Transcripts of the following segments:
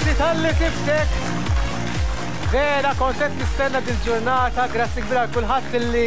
Grazzi talli sibtek! Vera kont qed nistenna dil-ġurnata, grazzi kbira għal kulħadd illi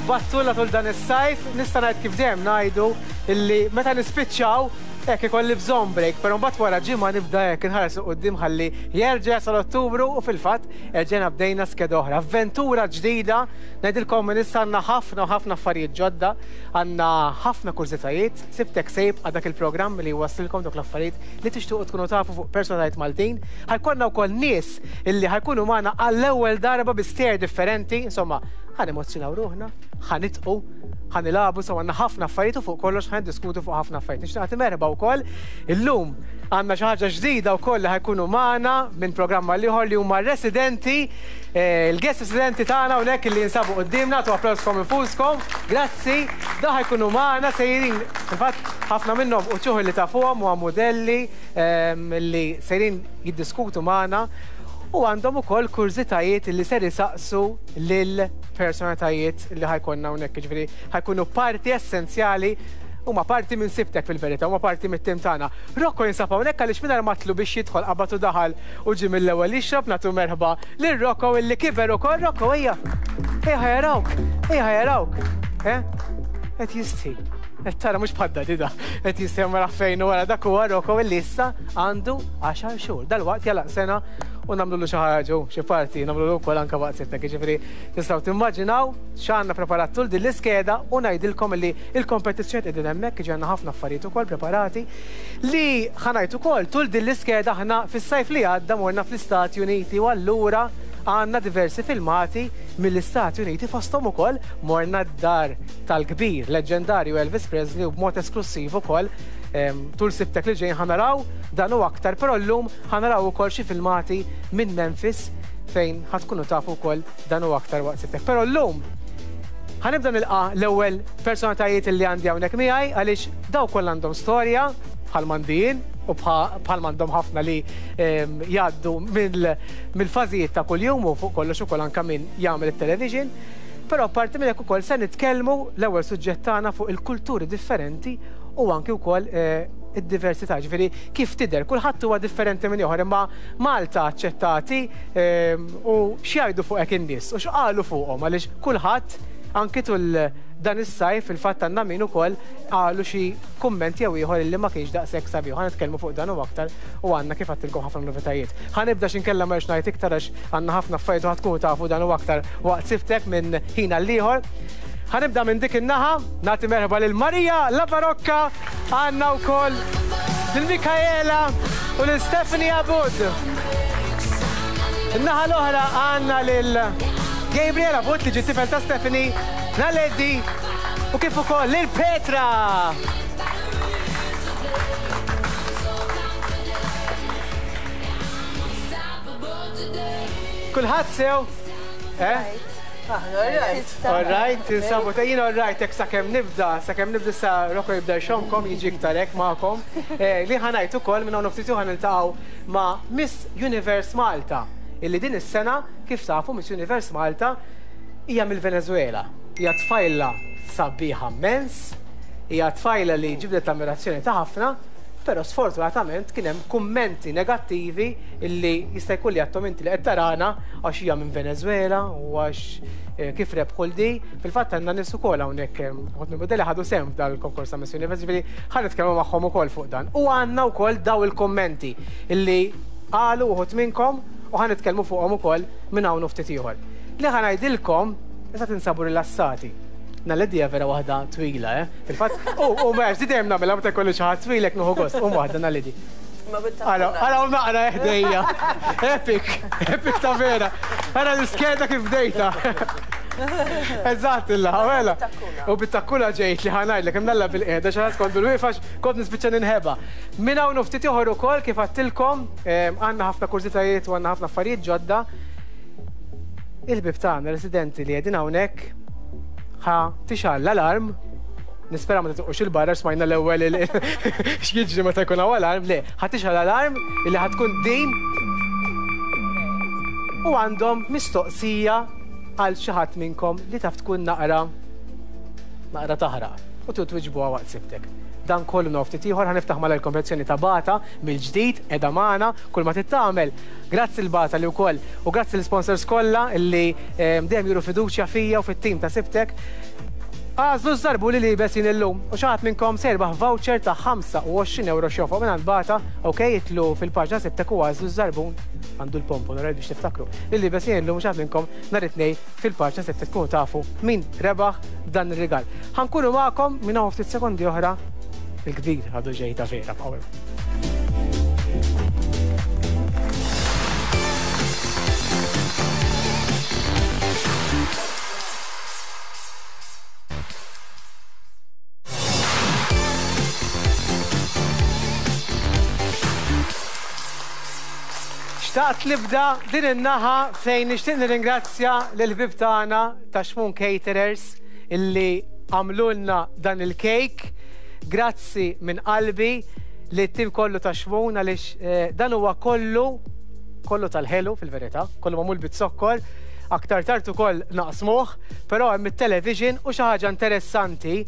battulna tul dan is-sajf. Nista' ngħid kif dejjem ngħidu illi meta nispiċċaw hekk ikolli bżonn break, però mbagħad wara ġimgħa nibda hekk inħares 'il quddiem ħalli jerġa' jasal Ottubru u fil-fatt erġajna bdejna skeda oħra. Avventura ġdida, ngħidilkom minn issa għandna ħafna u ħafna affarijiet ġodda, għandna ħafna kurżitajiet. Sibtek se jibqa' dak il-programm li jwasslilkom dawk l-affarijiet li tixtiequ tkunu tafu fuq personalitajiet Maltin. Ħa jkollna wkoll nies illi ħa jkunu magħna għall-ewwel darba bi stejjer differenti, insomma, ħa nemozzjonaw ruħna, ħa nidħqu, ħa nilagħbu, insomma għandna ħafna affarijiet u fuq kollox ħa niddiskutu fuq ħafna affarijiet. Nixtieq nagħti merħba wkoll illum għandna xi ħaġa ġdida wkoll li ħa jkunu magħna minn programm għal ieħor li huma r-residenti Il-guest residenti tagħna hawnhekk li jinsabu quddiemna, tu applawskom infuskom. Grazzi. Da ħajkunu magħna sejrin, fil-fatt ħafna minnhom uċuħ li tafuhom huwa modelli ehm, li sejrin jiddiskutu magħna u għandhom ukoll kurżitajiet li ser isaqsu lil personalitajiet li ħajkonna hawnhekk, jiġifieri ħajkunu parti essenzjali huma parti minn sibtek fil-verità, huma parti mit-tim tagħna. Rocco jinsab hawnhekk għaliex mingħajr matlu biex jidħol qabad u daħal U ġie mill-ewwel jixrob nagħtu merħba lil Rocco illi kiber ukoll. Rocco ejja! Ejja ħa jarawk! Ejja ħa jarawk! Eh? Qed jistħi. Qed tara mhux bħad dadi da. Qed jistħi ma naf fejn wara dak huwa Rocco illi issa għandu għaxar xhur. Dalwaqt jalaq sena u nagħmlulu xi ħaġa xi parti nagħmlulu wkoll anke waqt sibtek. Jiġifieri tistgħu timmaġinaw x'għandna preparat tul din l-iskeda u ngħidilkom illi l-kompetizzjoni qegħdin hemmhekk, jiġi għandna ħafna affarijiet ukoll preparati. Li ħa ngħid ukoll, tul din l-iskeda aħna fis-sajf li għadda morna fl-Istati Uniti u allura għandna diversi filmati mill-Istati Uniti fosthom ukoll morna d-dar tal-kbir leġġendarju Elvis Presley u b'mod esklussiv ukoll tul Sibtek li ġejjin ħa naraw dan u aktar però llum ħa naraw ukoll xi filmati minn Memphis fejn ħa tkunu tafu wkoll dan u aktar waqt Sibtek. Però llum ħa nibda nilqa' l-ewwel personalitajiet li għandi hawnhekk miegħi għaliex dawn kollha għandhom storja bħal m'għandi jien u bħal m'għandhom ħafna li ehm, jgħaddu mill-fażijiet ta' kuljum u fuq kollox ukoll anke min jagħmel it-television. Però apparti minn hekk ukoll se nitkellmu l-ewwel suġġett tagħna fuq il-kulturi differenti u anki wkoll eh, id-diversità, ġifieri kif tidher, kulħadd huwa differenti minn ieħor, imma Malta aċċettati ehm, u x'jgħidu fuqek in-nies u x'qalu fuqhom għaliex kulħadd anki tul dan is-sajf fil-fatt għandna min ukoll qalu xi kumment jew ieħor illi ma kienx daqshekk sabiħ. Ħa nitkellmu fuq dan u aktar u għandna kif għedtilkom ħafna novitajiet. Ħa nibda x'inkella ma rridx ngħid iktar għax għandna ħafna affarijiet u ħa tkunu tafu dan u aktar waqt sibtek minn ħin għal ieħor. Ħa nibda minn dik in-naħa, nagħti merħba lil Maria La Barocca, għandna wkoll lil Mikaela u lil Stephanie Abud. In-naħa l-oħra għandna lil Gabriel Abud li ġie tifel ta' Stephanie, Naledi u kif ukoll lil Petra. Kulħadd sew? Eh? All right, tinsabu ta' jien all right, hekk sakemm nibda, sakemm nibda sa Rocco jibda jxommkom, jiġi iktar hekk magħkom. Eh, li ħa ngħid ukoll minn hawn ftit ħa niltaqgħu ma' Miss Universe Malta, illi din is-sena kif tafu Miss Universe Malta hija mill-Venezuela. Hija tfajla sabiħa mmens, hija tfajla li ġibdet l-ammirazzjoni ta' ħafna, però sfortunatament kien hemm kummenti negattivi illi jista' jkun li għadthom inti li qed tarana għax hija minn Venezuela u għax eh, kif rebħu l-di. Fil-fatt għandna nies ukoll hawnhekk eh, ħodt minn modelli ħadu sehem f'dal-konkors ta' Miss Universe, ġifieri ħa nitkellmu magħhom ukoll fuq dan. U għandna wkoll daw il-kummenti illi qalu uħud minnkom u ħa nitkellmu fuqhom ukoll minn hawn u ftit ieħor. Li ħa ngħidilkom, issa tinsabu rilassati. Naledi hija vera waħda twila, eh? Fil-fatt, u u ma di dejjem nagħmilha meta jkolli xi ħadd twilek nieħu gost, u waħda Naledi. Ara, ara u naqra ħdejja. Epic, epic ta' vera. Ara l-iskeda kif bdejta. Eżatt illa, mela. U bit-takkuna ġejt li ħa ngħidlek imnalla bil-qiegħda xi ħadd kont bil-wieqfa kont nispiċċa ninħeba. Minn hawn u ftit ieħor ukoll kif għedtilkom, għandna ħafna kurżitajiet u għandna ħafna affarijiet ġodda. Il-ħbieb tagħna residenti li qegħdin hawnhekk ħa tixgħal l-alarm. Nispera ma titqux il-barra smajna l-ewwel x'jiġri meta jkun hawn alarm. Le, ħa tixgħal l-alarm illi ħa tkun din u għandhom mistoqsija għal xi ħadd minnkom li taf tkun naqra naqra taħraq u tridu twiġbuha waqt sibtek. Dan kollu naf ftit ieħor ħa niftaħ malajr il-kompetizzjoni ta' Bata mill-ġdid qiegħda magħna kull ma trid tagħmel. Grazzi lil Bata li wkoll u grazzi lill-isponsors kollha li dejjem juru fiduċja fija u fit-tim ta' Sibtek. Agħżlu ż-żarbun li liebes jien illum u xi ħadd minnkom se jirbaħ voucher ta' 25 ewro x'jonfoq mingħand Bata, ok, idħlu fil-paġna Sibtek u agħżlu ż-żarbun, għandu l-pompon, alright biex tiftakru, li liebes jien illum u xi ħadd minnkom nhar it-Tnejn fil-paġna Sibtek tkunu tafu min rebaħ dan ir-rigal. Ħa nkunu magħkom minn hawn ftit sekondi oħra il-kbir għadu ġej ta' vera bqgħu hemm. Xtaqt nibda din in-naħa fejn nixtieq nirringrazzja lill-ħbieb tagħna ta' Xmun Caterers illi għamlulna dan il-kejk. Grazzi minn qalbi lit-tim kollu ta' Xmun għaliex eh, dan huwa kollu kollu tal-ħelu fil-verità, kollu magħmul bit-zokkor. Aktar tard ukoll naqsmuh, però hemm it-television u xi ħaġa interessanti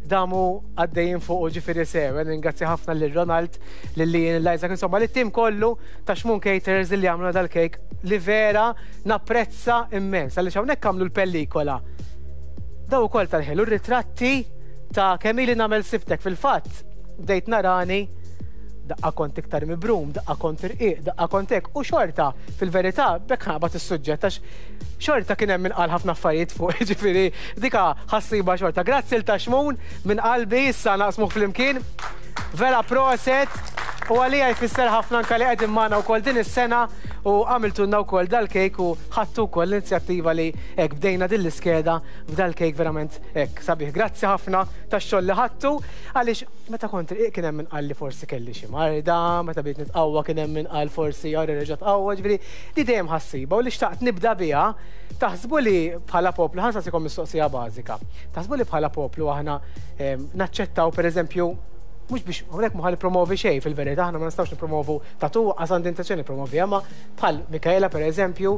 damu għaddejjin fuq ġifieri sew. Ringrazzja ħafna lil Ronald, lil Ian, lil Isaac, insomma lit-tim kollu ta' Xmun Caterers li għamlu dal-kejk li vera napprezza immens għaliex hawnhekk għamlu l-pellikola. Daw ukoll tal-ħelu ritratti ta' kemm ili nagħmel sibtek fil-fatt bdejt narani daqqa kont iktar mibrum, daqqa kont irqiq, daqqa kont hekk u xorta fil-verità bekk ħabat is-suġġett għax xorta kien hemm min qal ħafna affarijiet fuq, ġifieri dika ħassiba xorta. Grazzi l taxmun minn qalbi issa naqsmuh flimkien. Vera proset u għalija jfisser ħafna anka li qegħdin magħna wkoll din is-sena u għamiltulna wkoll dal-kejk u ħadtu wkoll l-inizjattiva li hekk bdejna din l-iskeda b'dal-kejk verament hekk sabiħ. Grazzi ħafna tax-xogħol li ħadtu għaliex meta kont irqiq kien hemm min qal li forsi kelli xi marda, meta bdejt nitqawwa kien hemm min qal forsi ara reġa' tqawwa, ġifieri di dejjem ħassiba u li xtaqt nibda biha taħsbu li bħala poplu ħa nsaqsikom mistoqsija bażika. Taħsbu li bħala poplu aħna naċċettaw pereżempju mhux biex hawnhekk mhu ħa nippromovi xejn fil-verità aħna ma nistgħux nippromovu tatu qas għandi intenzjoni nippromoviha ma bħal Mikaela pereżempju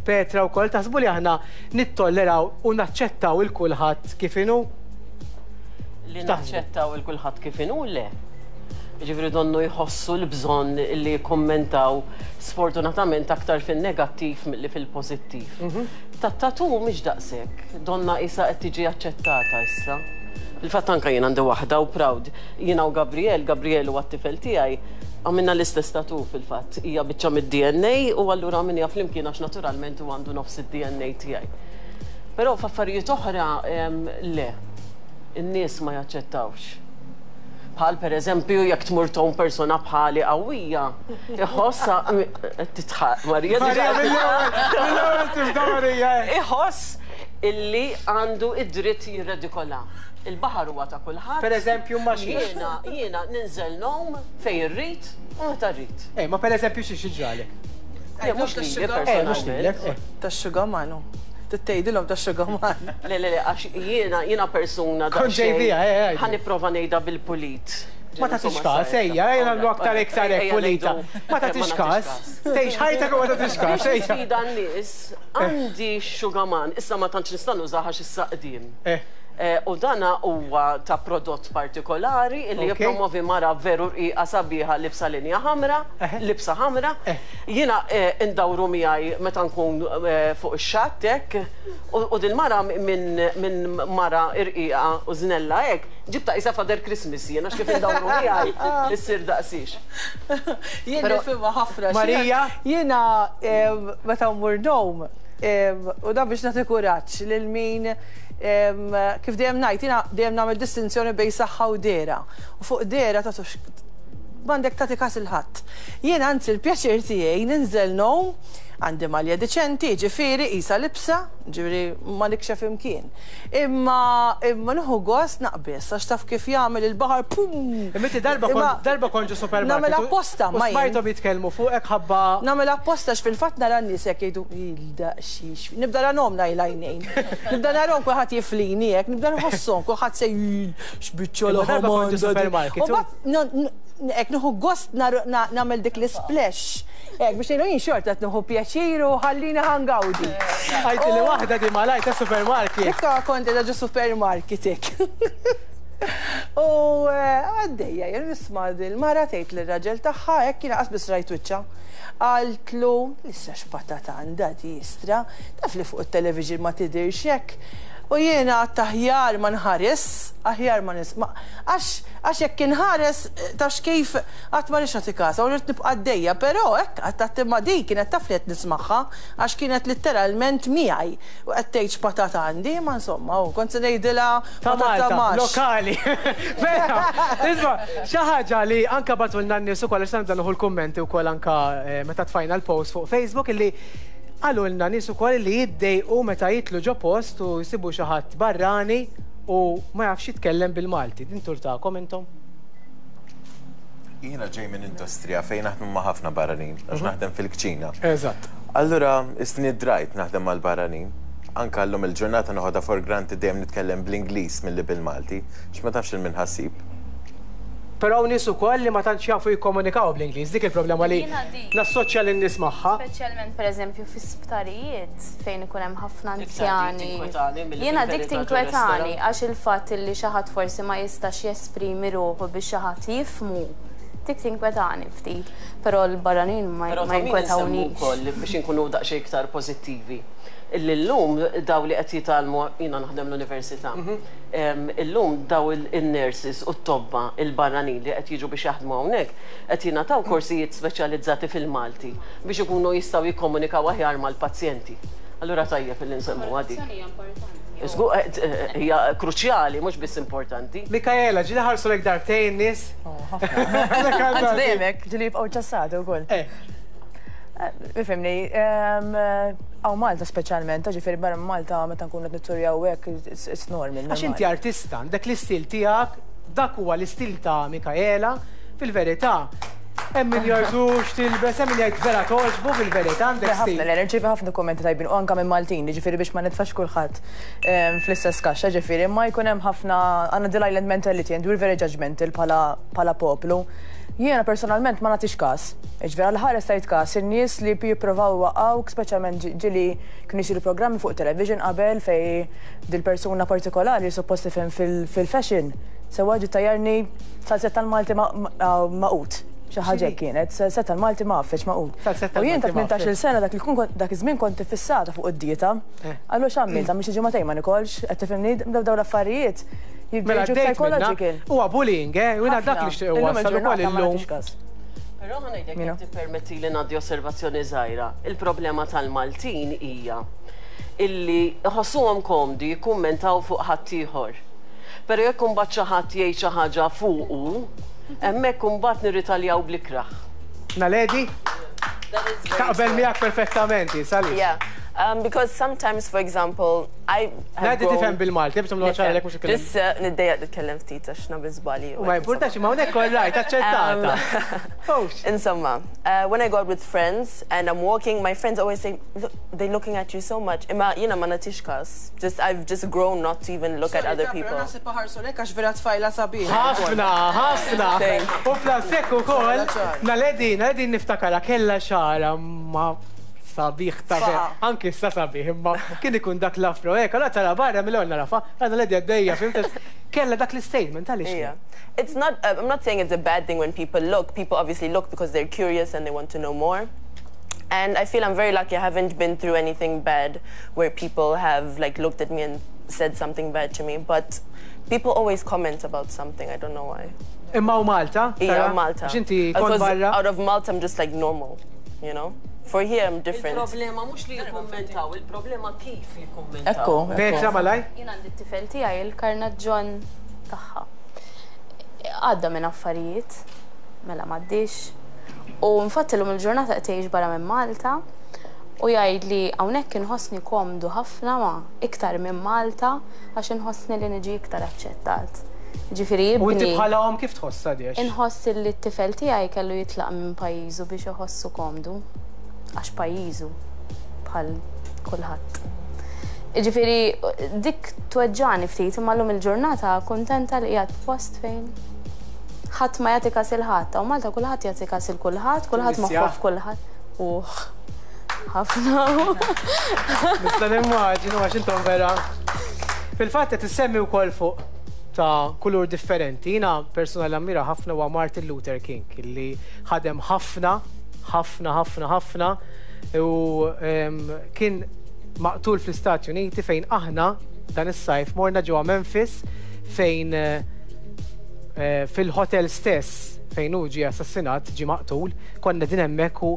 Petra wkoll taħsbu li aħna nittolleraw u naċċettaw il kulħadd kif inhu? Li naċċettaw il kulħadd kif inhu le. Ġifieri donnu jħossu l-bżonn li jikkummentaw sfortunatament aktar fin-negattiv milli fil-pożittiv. Mhm. Tat-tattoo mhix daqshekk, donnha qisha qed tiġi aċċettata issa. Fil-fatt anke jien għandi waħda u proud. Jiena u Gabriel, Gabriel huwa t-tifel tiegħi, għamilna l-istess tattoo fil-fatt. Hija biċċa mid-DNA u allura għamilniha flimkien għax naturalment huwa għandu nofs id-DNA tiegħi. Però f'affarijiet oħra le. In-nies ma jaċċettawx. Bħal pereżempju jekk tmur tgħum persuna bħali qawwija, iħoss qed tidħaq Marija. Marija mill-ewwel tibda Marija. Iħoss illi għandu id-dritt jirredikola. Il-baħar huwa ta' kulħadd. Pereżempju ma xiex. Jiena jiena ninżel ngħum fejn irrid u meta rrid. Eh, ma pereżempju xiex jiġralek? Le mhux lili personalment. Tax-xugaman hu. Trid tgħidilhom tax-xugaman. Le le le għax jiena jiena persuna Kont ġej biha, eh, eh. Ħa nipprova ngħidha bil-pulit. Ma tagħtix każ, ejja, ejja nagħmlu aktar iktar hekk pulita. Ma tagħtix każ. Tgħix ħajtek u ma tagħtix każ, ejja. Biex nisfida n-nies, għandi xugaman, issa ma tantx nista' nużah għax issa qdim. Eh. U dana huwa ta' prodott partikolari illi jippromovi mara veru rqiqa sabiħa libsa linja ħamra, libsa ħamra. Jiena ndawru miegħi meta nkun fuq ix-xatt hekk u dil-mara minn mara rqiqa u żnella hekk ġibtha qisha Father Christmas jien għax kif indawru miegħi issir daqsiex. Jien nifhimha ħafna. Marija? Jiena meta mmur ngħum u dan biex nagħti kuraġġ lil min Kif dejjem ngħid, jiena dejjem nagħmel distinzjoni bejn saħħa u dehra. U fuq dehra tagħtux m'għandek tagħti kas 'il ħadd. Jiena anzi l-pjaċir tiegħi ninżel ngħum, għandi malja diċenti, jiġifieri qisha libsa, jiġifieri ma nikxef imkien. Imma imma nieħu gost naqbeż għax taf kif jagħmel il-baħar pum! Imma inti darba kont darba kont ġo supermarket. Nagħmel apposta ma jien. U smajthom jitkellmu fuqek ħabba. Nagħmel apposta għax fil-fatt nara n-nies hekk jgħidu il-daqsxiex. Nibda narahom l-għajnejn. Nibda narahom kulħadd jiflini hekk, nibda nħosshom kulħadd se x'biċċa laħam għandha. U mbagħad hekk nieħu gost nagħmel dik l-isplash. Hekk biex ngħidu jien xorta qed nieħu pjaċir u ħallini ħa ngawdi. Għidtili waħda di malajr ta' supermarket. Dikka kont qiegħda ġo supermarket hekk. U għaddejja jien nisma' dil-mara tgħid lir-raġel tagħha hekk jiena qas biss rajt wiċċha. Qaltlu, issa x'patata għandha di istra, taf li fuq it-television ma tidhirx hekk. U jiena għedt aħjar ma nħares, aħjar ma nis, ma, għax, għax jekk inħares tafx kif qatt ma rridx nagħti kasha u rrid nibqa' għaddejja, però hekk għedt għedt imma din kienet taf li qed nismagħha għax kienet litteralment miegħi u qed tgħid x'patata għandi, imma insomma, u kont se ngħidilha Ta' patata Malta, maxx. lokali. Mela, isma', xi ħaġa li anke bagħtulna n-nies ukoll għax nibda nieħu l-kummenti wkoll anke meta tfajna l-post fuq Facebook illi qalulna nies ukoll li jiddejqu meta jidħlu ġo post u jsibu xi ħadd barrani u ma jafx jitkellem bil-Malti. Din turtakom intom? Jiena ġej minn industrija fejn naħdmu ma' ħafna barranin, għax naħdem fil-kċina. Eżatt. Allura, isni drajt naħdem mal-barranin. Anka llum il-ġurnata noħodha for granted dejjem nitkellem bl-Ingliż milli bil-Malti, għax ma tafx 'il min ħa ssib. Però hawn nies ukoll li ma tantx jafu jikkomunikaw bl-Ingliż, dik il-problema li Jiena dik. nassoċja lin-nies magħha. Speċjalment pereżempju fi sptarijiet fejn ikun hemm ħafna Iktar dik anzjani. tinkwetani milli Jiena dik fil-verità ġo tinkwetani restaurant. għax il-fatt illi xi ħadd forsi ma jistax jesprimi ruħu biex xi ħadd jifhmu, dik tinkwetani ftit. Però l-barranin ma Però ma ta' min insemmu jinkwetawniex. wkoll biex inkunu daqsxejn iktar pożittivi. Illi llum daw li qed jitgħallmu, jiena naħdem l-università, illum daw in-nurses u t-tobba il-barranin li qed jiġu biex jaħdmu hawnhekk qed jingħataw korsijiet speċjalizzati fil-Malti biex ikunu jistgħu jikkomunikaw aħjar mal-pazjenti. Allura tajjeb illi nsemmuha dik. Traduzzjoni hija importanti. Żgur, hija kruċjali, mhux biss importanti. Mikaela, ġieli ħarsu lejk darbtejn in-nies? Oh, ħafna. Anzi dejjem hekk, ġieli jibqgħu ċassati wkoll. Ifhimni, hawn Malta speċjalment, ġifieri barra minn Malta meta nkunu qed nitturjaw hekk, it's normal. Għax inti artista, għandek l-istil tiegħek, dak huwa l-istil ta' Mikaela, fil-verità, hemm min jgħidu x'tilbes, hemm min jgħid vera togħġbu fil-verità għandek stil. Ħafna, le, nirċievi ħafna kummenti tajbin u anke minn Maltin, jiġifieri biex ma nitfax kulħadd fl-istess kaxxa, ġifieri, imma jkun hemm ħafna għandna the island mentality and we're very judgmental bħala poplu. Jiena personalment ma nagħtix każ. Jiġifieri għal ħares tajt każ in-nies li jipprovaw iwaqqgħuk, speċjalment ġieli kienu jsiru programmi fuq television qabel fejn dil-persuna partikolari li suppost tifhem fil-fashion sewwa ġiet tgħajjarni salzett tal-Malti magħqud. Xi ħaġa hekk kienet, salzett tal-Malti mgħaffeġ magħqud. U jien ta' 18-il sena dak dak iż-żmien kont iffissata fuq id-dieta. Allura x'għamilt? Għamilt xi ġimagħtejn ma nikolx, qed tifhimni? Dawn l-affarijiet jibdew Mela jiġu għaddejt minnha. psychological. Huwa bullying, eh? U jiena dak Ħafna. li xtieq Illum iwassal ukoll il-ġurnata ma illum. nagħtix każ. Però ħa ngħidlek Minu? jekk tippermettili ngħaddi osservazzjoni żgħira. Il-problema tal-Maltin hija illi iħossuhom komdi jikkummentaw fuq ħaddieħor. Però jekk imbagħad xi ħadd jgħid xi ħaġa fuqu, hemmhekk imbagħad nirritaljaw bl-ikrah. Naledi? That is very Taqbel true. miegħek perfettament, hi, Salix. Yeah. Um, because sometimes, for example, I have Ngħidli grown... tifhem bil-Malti, biex tagħmlu ċara lek mhux ikellem. Just uh, niddejjaq nitkellem ftit għax nagħmel żbalji. U ma jimpurtax, ma hawnhekk all right, aċċettata. Ux. Insomma, uh, when I go out with friends and I'm walking, my friends always say, look, they're looking at you so much. Imma jiena ma nagħtix każ. Just, I've just grown not to even look at other people. Naħseb ħarsu lejk għax vera tfajla sabiħa. Ħafna, ħafna. Thanks. U plasek ukoll, Naledi, Naledi niftakarha kellha xagħarha ma sabiħ ta' Faqa. anki issa sabiħ, imma kien ikun dak l-afro, hekk, allora tara barra mill-ewwel narafa, għandna Naledi għaddejja, fhimt? Kellha dak l-statement għaliex. Yeah. It's not, uh, I'm not saying it's a bad thing when people look. People obviously look because they're curious and they want to know more. And I feel I'm very lucky I haven't been through anything bad where people have like looked at me and said something bad to me. But people always comment about something. I don't know why. Imma u Malta? Yeah, tara? Malta. Għax inti kont Because barra. out of Malta, I'm just like normal, you know? For here, I'm different. Il-problema mhux li jikkummentaw, il-problema kif jikkummentaw. Ekku. Petra malaj? Jien għandi t-tifel tiegħi il-karnaġġon tagħha. Għadda minn affarijiet, mela m'għaddix. U infatti llum il-ġurnata qed jgħix barra minn Malta u jgħid li hawnhekk inħossni komdu ħafna ma iktar minn Malta għax inħossni li niġi iktar aċċettat. Ġifieri U inti jibni. bħala omm kif tħossha di? Inħoss li t-tifel tiegħi kellu jitlaq minn pajjiżu biex iħossu komdu għax pajjiżu bħal kulħadd. Ġifieri dik tweġġani ftit imma llum il-ġurnata kuntenta li qiegħed f'post fejn ħadd ma jagħti kas il ħadd, u Malta kulħadd jagħti kas il kulħadd, kulħadd Tunisja. moħħu f'kulħadd. Uħ, ħafna. Nista' nimmaġinu għax intom vera. Fil-fatt qed issemmi wkoll fuq ta' kulur differenti. Jiena persuna li ammira ħafna huwa Martin Luther King li ħadem ħafna, ħafna, ħafna, ħafna u kien maqtul fl-Istati Uniti fejn aħna dan is-sajf morna ġewwa Memphis fejn eh, fil-hotel stess fejn hu ġie assassinat, ġie maqtul, konna din hemmhekk u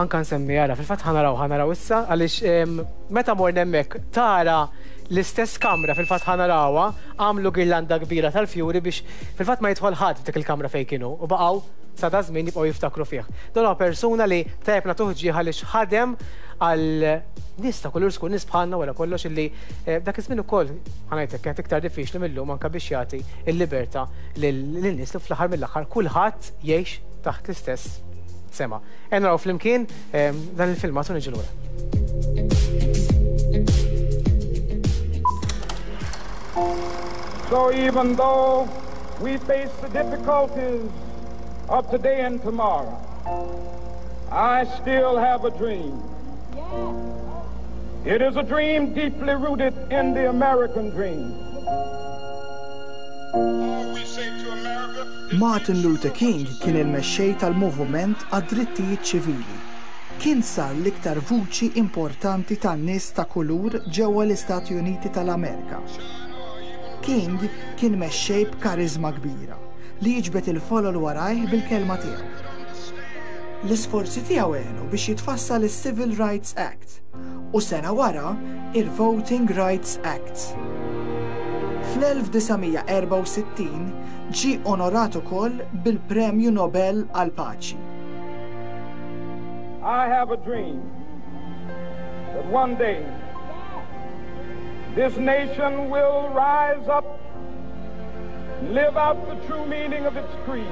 anka nsemmi ara, fil-fatt ħanaraw ħanaraw issa għaliex meta morna hemmhekk tara l-istess kamra fil-fatt ħanarawha, għamlu girlanda kbira tal-fjuri biex fil-fatt ma jidħol ħadd f'dik il-kamra fejn kienu u baqgħu sa da żmien jibqgħu jiftakru fih. Dan huwa persuna li tajjeb nagħtuh ġieħ għaliex ħadem għal nies ta' kulur skur, nies bħalna wara kollox illi eh, dak iż-żmien ukoll ħanajtek kienet iktar diffiċli mill-lum anke biex jagħti l-libertà lin-nies li fl-aħħar mill-aħħar kulħadd jgħix taħt l-istess sema. Ejja naraw flimkien eh, dan il-filmat u niġu lura. So even though we face the difficulties of today and tomorrow, I still have a dream. It is a dream deeply rooted in the American dream. Martin Luther King kien il-mexxej tal-moviment għad-drittijiet ċivili. Kien sar l-iktar vuċi importanti tan-nies ta' kulur ġewwa l-Istati Uniti tal-Amerika. King kien mexxej b'kariżma kbira, li jiġbed il-folol warajh bil-kelma tiegħu. L-isforzi tiegħu għenu biex jitfassal is-Civil Rights Act u sena wara, il-Voting Rights Act. Fl-1964 ġie onorat ukoll bil-Premju Nobel għall-Paċi. I have a dream that one day this nation will rise up and live out the true meaning of its creed.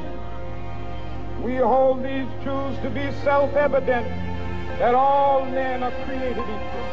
We hold these truths to be self-evident that all men are created equal.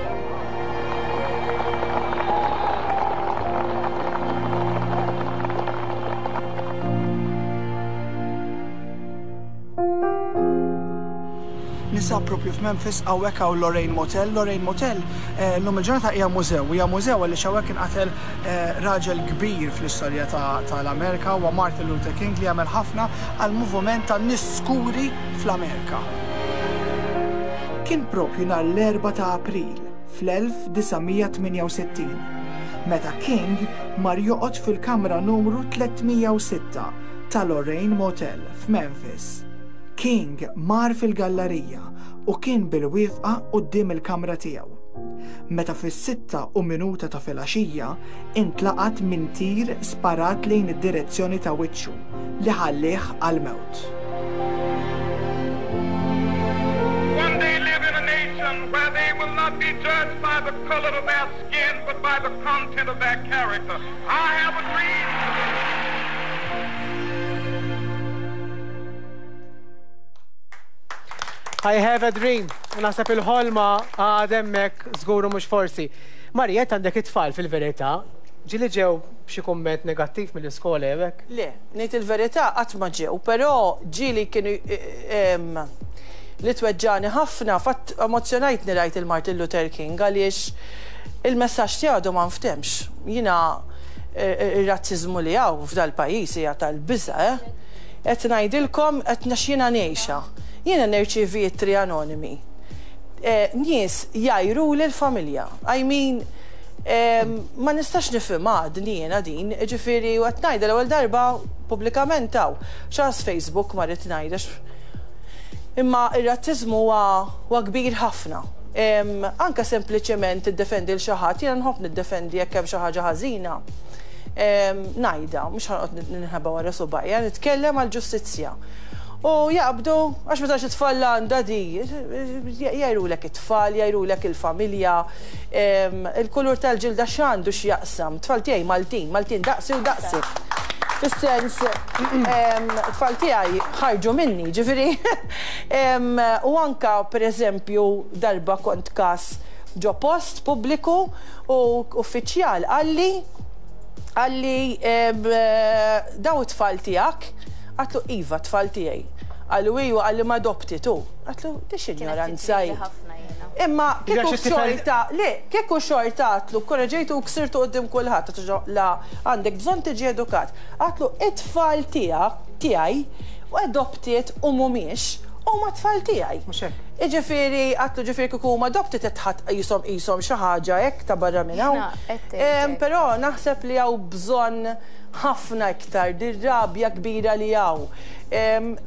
Ninsab propju f'Memphis hawnhekk hawn Lorraine Motel. Lorraine Motel eh, llum il-ġurnata hija mużew, hija mużew għaliex hawnhekk inqatel eh, raġel kbir fl-istorja tal-Amerika huwa Martin Luther King li għamel ħafna għal moviment tan-nies skuri fl-Amerika. Kien propju nhar l-4 ta' April fl-1968 meta King mar joqgħod fil-kamra numru 306 ta' Lorraine Motel f'Memphis. King mar fil-gallarija u kien bilwieqfa quddiem il-kamra tiegħu. Meta fis-sitta u minuta ta' filgħaxija intlaqat minn tir sparat lejn id-direzzjoni ta' wiċċu li ħallieh għall-mewt. One day live in a nation where they will not be judged by the color of their skin but by the content of their character. I have a dream. I have a dream. U naħseb il-ħolma għad hemmhekk żgur u mhux forsi. Marija, int għandek it-tfal fil-verità. Ġieli ġew b'xi kumment negattiv mill-iskola jew hekk? Le, ngħid il-verità qatt ma ġew, però ġieli kienu li tweġġagħni ħafna, fatt emozzjonajtni rajt il-Martin Luther King għaliex il-messaġġ tiegħu għadu ma nftehmx. Jiena ir-razziżmu li hawn f'dal-pajjiż hija tal-biża', eh! Qed ngħidilkom qed għax jiena ngħixha. Jiena nirċievi ittri anonimi. Nies jgħajruli l-familja. I mean, ma nistax nifhimha għadni jiena din, jiġifieri u qed ngħidha l-ewwel darba pubblikament hawn. X'għas Facebook ma rrid ngħid għax imma r-razziżmu huwa huwa kbir ħafna. Anke sempliċement tiddefendi 'l xi ħadd, jiena nħobb niddefendi jekk hemm xi ħaġa ħażina, ngħidha, mhux ħa noqgħod ninħeba wara subgħajja, nitkellem għall-ġustizzja. U jaqbdu, għax ma tafx it-tfal għandha di, jgħajrulek it-tfal, jgħajrulek il-familja, il-kulur tal-ġilda x'għandu x'jaqsam, tfal tiegħi Maltin, Maltin daqsi u daqsek. Fis-sens, tfal tiegħi ħarġu minni, ġifieri. U anka, per eżempju, darba kont każ ġo post pubbliku u uffiċjal qalli, qalli daw it-tfal tiegħek? Għadtlu iva, tfal tiegħi. Qallu ijwa, qalli ma adopted hu. Għadtlu di x'injoranza hi. Imma kieku xorta, le, kieku xorta għatlu, korreġejtu u ksirtu quddiem kulħadd, la għandek bżonn tiġi edukat. Għatlu it-tfal tiegħek, tiegħi, u adopted u mhumiex, huma t-tfal tiegħi. Mhux hekk. Jiġifieri, għatlu ġifieri kieku huma adopted qed tħadd qishom qishom xi ħaġa hekk ta' barra minn hawn. Però naħseb li hawn bżonn ħafna iktar dir-rabja kbira li hawn.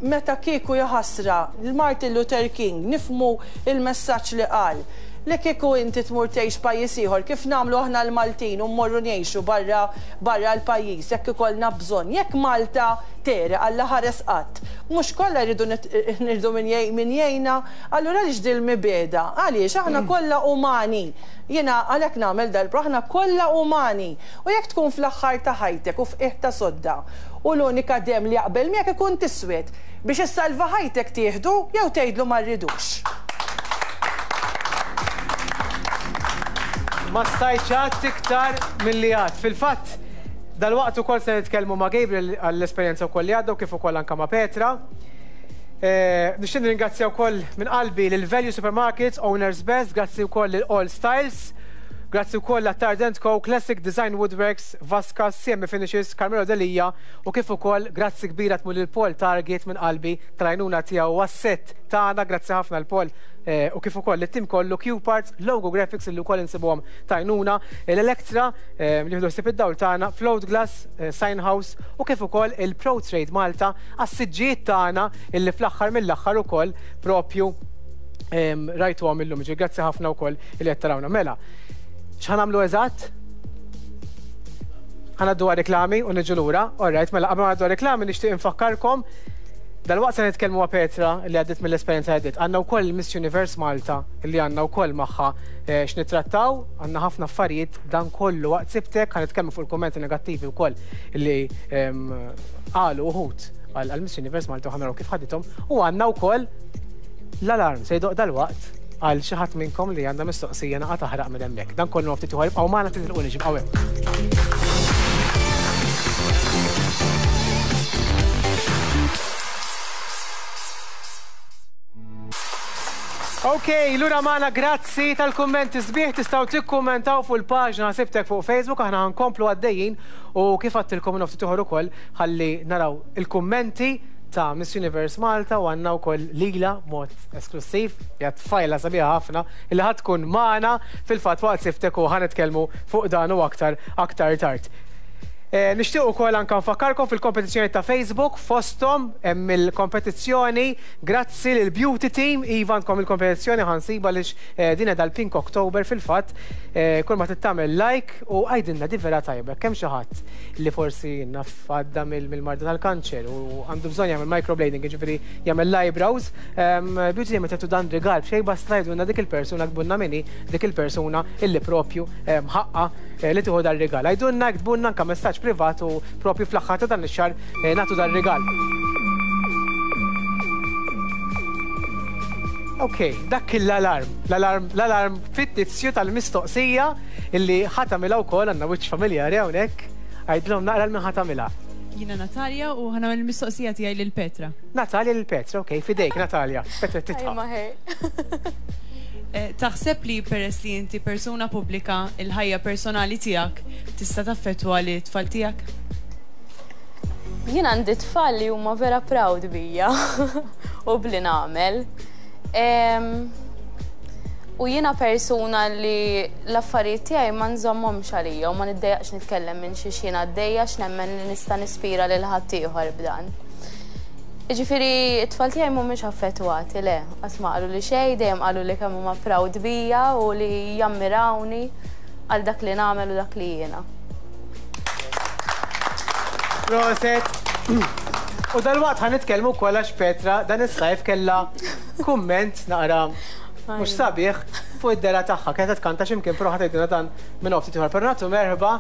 Meta kieku jaħasra l-Martin Luther King nifhmu l-messaġġ li qal, li kieku inti tmur tgħix pajjiż ieħor kif nagħmlu aħna l-Maltin u mmorru ngħixu barra barra l-pajjiż jekk ikollna bżonn, jekk Malta tegħreq Alla ħares qatt, mhux kollha jridu nirdu min min jgħinna, allura għaliex dil-mibegħda? Għaliex? Aħna kollha umani. Jiena għalhekk nagħmel dal-pro, aħna kollha umani. U jekk tkun fl-aħħar ta' ħajtek u f'qiegħ ta' sodda u l-unika demm li jaqbel miegħek ikun t'iswed, biex issalva ħajtek tieħdu jew tgħidlu ma rridux? Ma stajtx għadt iktar milli għadt. Fil-fatt, dalwaqt ukoll se nitkellmu ma' Gabriel għall-esperjenza wkoll li għadda u kif ukoll anke ma' Petra. Nixtieq nirringrazzja wkoll minn qalbi lil Value Supermarkets, Owners Best, grazzi wkoll lil All Styles, grazzi wkoll Attard and Co, Classic Design Woodworks, Vasca, CM Finishes, Carmelo Delia u kif ukoll grazzi kbira tmur lil Paul Target minn qalbi tal-għajnuna tiegħu għas-sett tagħna, grazzi ħafna lil Paul u kif ukoll lit-tim kollu, Q-Parts, Logo Graphics illi wkoll insibuhom t'għajnuna, l-Electra li jieħdu ħsieb id-dawl tagħna, Float Glass, Sign House u kif ukoll il-Pro Trade Malta għas-siġġijiet tagħna illi fl-aħħar mill-aħħar ukoll propju rajtuhom illum. Ġifieri grazzi ħafna wkoll illi qed tarawna. Mela, x'ħa nagħmlu eżatt? Ħa ngħaddu għar-reklami u niġu lura. All right, mela qabel ma ngħaddu għar-reklami nixtieq infakkarkom dalwaqt se nitkellmu ma' Petra li għaddiet mill-esperjenza li għaddiet. Għandna wkoll Miss Universe Malta li għandna wkoll magħha eh, x'nittrattaw, għandna ħafna affarijiet dan kollu waqt sibtek, ħa nitkellmu fuq il-kummenti negattivi wkoll li ehm, qalu uħud għal Miss Universe Malta u ħa naraw kif ħadithom u għandna wkoll l-alarm se jdoq dalwaqt għal xi ħadd minnkom li għandha mistoqsija naqa' taħraq minn hemmhekk. Dan kollu ftit ieħor ibqgħu magħna titilqunix ibqgħu hemm. Ok, lura magħna grazzi tal-kummenti sbieħ tistgħu tikkummentaw fuq il-paġna Sibtek fuq Facebook aħna ħankomplu għaddejjin u kif għadtilkom minn ftit ieħor ukoll ħalli naraw il-kummenti ta' Miss Universe Malta u għandna wkoll lila b'mod esklussiv, hija tfajla sabiħa ħafna li ħa tkun magħna fil-fatt waqt Sibtek u ħa nitkellmu fuq dan u aktar aktar tard. Nixtieq ukoll anke nfakkarkom fil-kompetizzjoni ta' Facebook fosthom hemm il-kompetizzjoni grazzi lil Beauty Team iva għandkom il-kompetizzjoni ħa nsibha għaliex din qiegħda l-Pink October fil-fatt kull ma trid tagħmel like u għidilna di vera tajba jekk hemm xi ħadd li forsi naf għadda mill-marda tal-kanċer u għandu bżonn jagħmel microblading, jiġifieri jagħmel l-eyebrows, Beauty Team qed dan rigal b'xejn basta tgħidulna dik il-persuna ktbulna min hi dik il-persuna illi propju ħaqqha li tieħu dar-rigal. Għidulna, iktbulna anke messaġġ privat u propju fl-aħħar ta' dan ix-xahar nagħtu dar-rigal. Ok, dak kien l-alarm, l-alarm, l-alarm fittizju tal-mistoqsija illi ħa tagħmilha wkoll għandna wiċċ familjari hawnhekk. Għidilhom naqra lil min ħa tagħmilha. Jiena Natalia u ħa nagħmel il-mistoqsija tiegħi lil Petra. Natalia lil Petra, ok, f'idejk Natalia. Petra titħaq. Taħseb li peress li inti persuna pubblika, il-ħajja personali tiegħek tista' taffettwa lit-tfal tiegħek? Jien għandi tfal li huma vera proud bija u bli nagħmel. U jiena persuna li l-affarijiet tiegħi ma nżommhomx għalija u ma niddejjaqx nitkellem minn xiex jien għaddejja għax nemmen li nista' nispira lil ħaddieħor b'dan. Jiġifieri t-tfal tiegħi mhumiex affettwati, le, qatt ma qaluli xejn, dejjem qaluli kemm huma proud bija u li jammirawni għal dak li nagħmel u dak li jiena. Proset! U dalwaqt ħa nitkellmu wkoll għax Petra dan is-sajf kellha kumment naqra mhux sabiħ fuq id-dehra tagħha. Kienet qed tkanta xi mkien però ħa tgħidilna dan minn hawn ftit ieħor. Però nagħtu merħba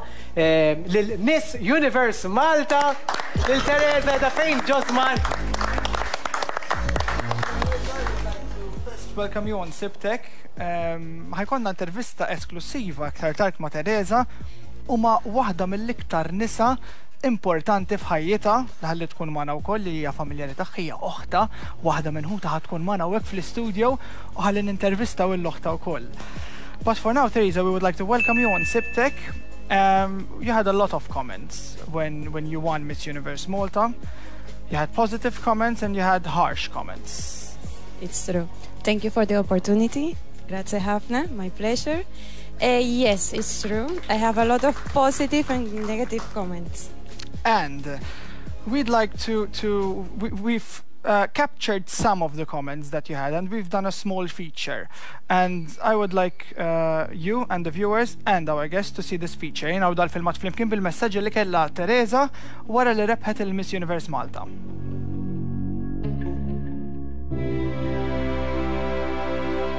lil Miss Universe Malta, lil Teresa qiegħda fejn Josmar. Welcome you on Sibtek. Ħa jkollna intervista esklussiva aktar tard ma' Teresa u ma' waħda mill-iktar nisa importanti f'ħajjitha li ħalli tkun magħna wkoll li hija familjari tagħha hija oħtha, waħda minn ħutha ħa tkun magħna hawnhekk fl-istudio u ħalli nintervistaw 'l oħtha wkoll. But for now, Theresa, we would like to welcome you on Sibtek. You had a lot of comments when, when you won Miss Universe Malta. You had positive comments and you had harsh comments. It's true. Thank you for the opportunity. Grazie ħafna, my pleasure. Yes, it's true. I have a lot of positive and negative comments. And we'd like to, to we, we've captured some of the comments that you had and we've done a small feature. And I would like you and the viewers and our guests to see this feature. Jien dal-filmat flimkien bil-messaġġi li kellha Teresa wara li rebħet il-Miss Universe Malta.